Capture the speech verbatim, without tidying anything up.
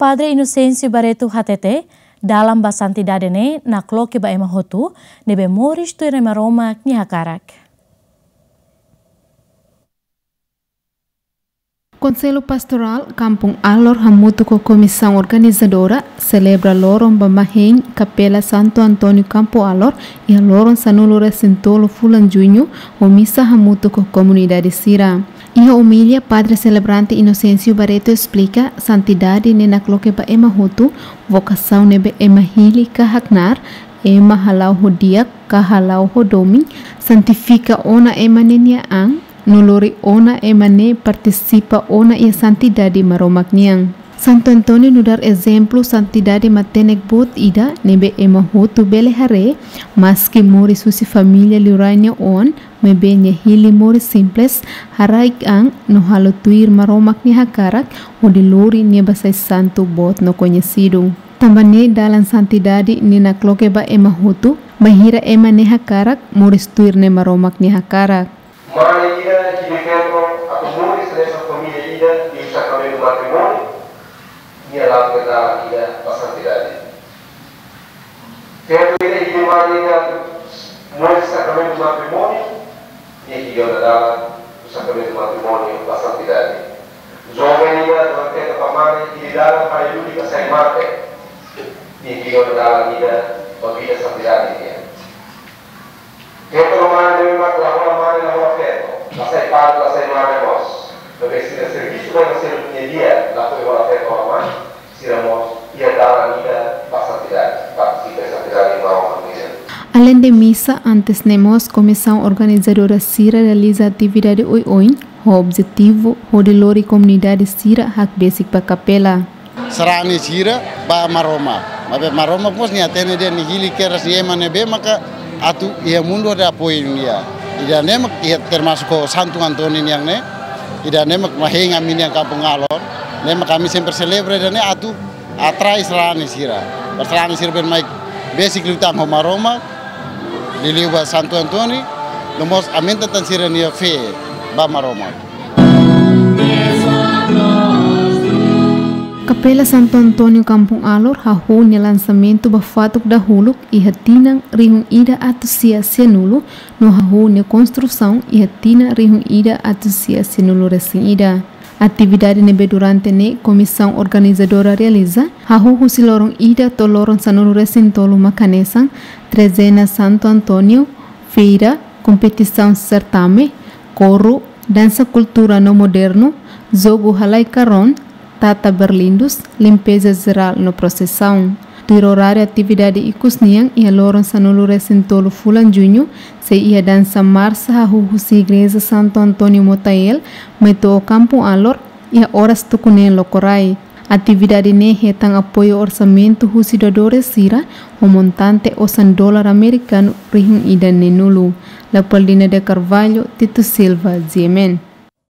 Padre Inosénsiu Barreto hatete, dalan ba santidade ne'e nakloke ba ema hotu ne'ebé moris tuir Maromak nia hakarak. Konsellu Pastorál Kampung Alor hamutuk ho komisaun organizadora selebra loron ba mahein Kapela Santo António Kampung Alor iha loron sanulu-resin-tolu fulan Juñu, ho misa hamutuk ho komunidade sira. Iha omilia, Padre Selebrante Inosénsiu Barreto esplika, santidade ne'e nakloke ba ema hotu, vokasaun ne'ebé ema hili ka haknaar, ema hala'o ho di'ak ka hala'o ho domin, santifika ona ema ne'e nia an, no lori ona ema ne'e partisipa ona iha santidade Maromak nian. Santo António nu'udar ezemplu santidade matenek boot ida ne'ebé ema hotu bele haree, maski moris husi família liurai nia oan, maibé nia hili moris simples, haraik an no halo tuir Maromak nia hakarak, hodi lori nia ba sai santu boot no koñesidu. Tanba ne'e dalan santidade ne'e nakloke ba ema hotu, bainhira ema ne'e hakarak moris tuir Maromak nia hakarak. Mane ida hili feto atu moris hanesan família ida iha sakramentu matrimóniu, nia la'o dalan ida ba santidade. Feto ida hili mane ida atu moris sakramentu matrimóniu, nia hili ona dalan husi sakramentu matrimóniu ba santidade. Joven ida atu feto ba mane hili dalan para luli ka sai mate, nia hili ona dalan ida ba vida santidade nian. Feto no mane ne'e mak la hola mane, la hola feto, la sai padre, la sai mane mós. Maibé sira servisu ba ema seluk nia di'ak, lakohi hola feto hola mane, sira mós iha dalan ida ba santidade, partisipa iha santidade ba uma nian. Aleinde misa, antes ne'e mós komisaun organizadora sira realiza atividade oioin, ho objetivu hodi lori komunidade sira hakbesik ba kapela. Sarani sira ba Maromak. Maibé Maromak mós nia hatene dehan nia hili kedas nia ema ne'ebé maka atu iha mundu hodi apoiu nia. Ida-ne'e mak iha termasuk ho Santu António nian ne'e. Ida-ne'e mak mahein ami-nian Kampung Alor. Ne'e mak ami sempre selebra ida-ne'e atu atrai sarani sira. Para sarani sira bele mai besik liután ho Maromak, liuliu ba Santu António, no mós aumenta tan sira-nia fé ba Maromak. Kapela Santo António Kampung Alor hahú nia lansamentu ba fatuk dahuluk iha tinan rihun ida atus sia sianulu, no hahú nia konstrusaun iha tinan rihun ida atus sia sianulu-resin-ida. Atividade ne'ebé durante ne'e komisaun organizadora realiza, hahú husi loron ida to'o loron sanulu-resin-tolu mak hanesan, trezena Santo António, feira, kompetisaun sertame, koru, dansa kultura no modernu, jogu halai karón, tata berlindus, limpeza jerál no prosesaun. Tuir oráriu atividade ikus nian, iha loron sanulu-resin-tolu fulan Juñu, sei iha dansa marsa hahú husi Igreja Santo António Motael, mai to'o Kampung Alor, iha oras tuku neen lokraik. Atividade ne'e hetan apoiu orsamentu husi doadores sira, ho montante osan dolar amerikanu rihun ida neenulu. Leopoldina de Carvalho, Tito Silva, G M N.